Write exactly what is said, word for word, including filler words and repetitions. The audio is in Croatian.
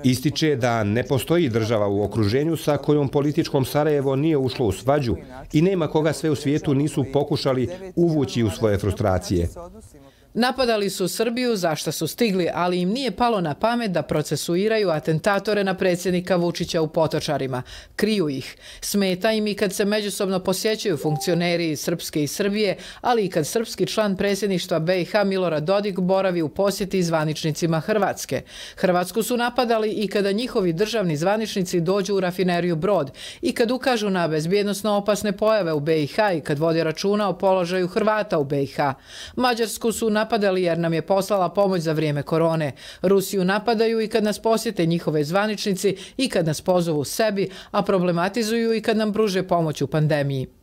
Ističe da ne postoji država u okruženju sa kojom političkom Sarajevo nije ušlo u svađu i nema koga sve u svijetu nisu pokušali uvući u svoje frustracije. Napadali su Srbiju za što su stigli, ali im nije palo na pamet da procesuiraju atentatore na predsjednika Vučića u Potočarima. Kriju ih. Smeta im i kad se međusobno posjećuju funkcioneri iz Srpske i Srbije, ali i kad srpski član predsjedništva B i H Milorad Dodik boravi u posjeti zvaničnicima Hrvatske. Hrvatsku su napadali i kada njihovi državni zvaničnici dođu u rafineriju Brod i kad ukažu na bezbjednosno opasne pojave u B i H i kad vode računa o položaju Hrvata u B i H. Mađarsku su napadali jer nam je poslala pomoć za vrijeme korone. Rusiju napadaju i kad nas posjete njihove zvaničnici i kad nas pozovu sebi, a problematizuju i kad nam pruže pomoć u pandemiji.